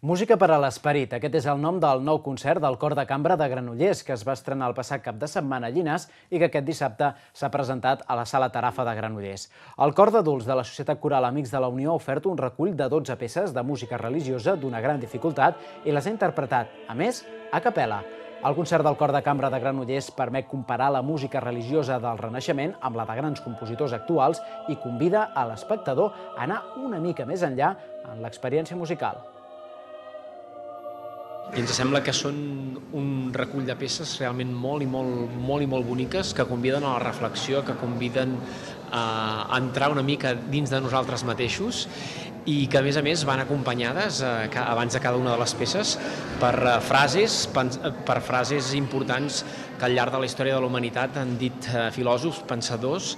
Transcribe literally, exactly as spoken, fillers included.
Música per a l'esperit. Aquest és el nom del nou concert del Cor de Cambra de Granollers, que es va estrenar el passat cap de setmana a Llinars i que aquest dissabte s'ha presentat a la Sala Tarafa de Granollers. El cor d'adults de la Societat Coral Amics de la Unió ha ofert un recull de dotze peces de música religiosa d'una gran dificultat i les ha interpretat, a més, a capella. El concert del Cor de Cambra de Granollers permet comparar la música religiosa del Renaixement amb la de grans compositors actuals i convida a l'espectador a anar una mica més enllà en l'experiència musical. I ens sembla que són un recull de peces realment molt i molt, molt i molt boniques, que conviden a la reflexió, que conviden a entrar una mica dins de nosaltres mateixos i que, a més a més, van acompanyades, abans de cada una de les peces, per frases, per frases importants que al llarg de la història de la humanitat han dit filòsofs, pensadors.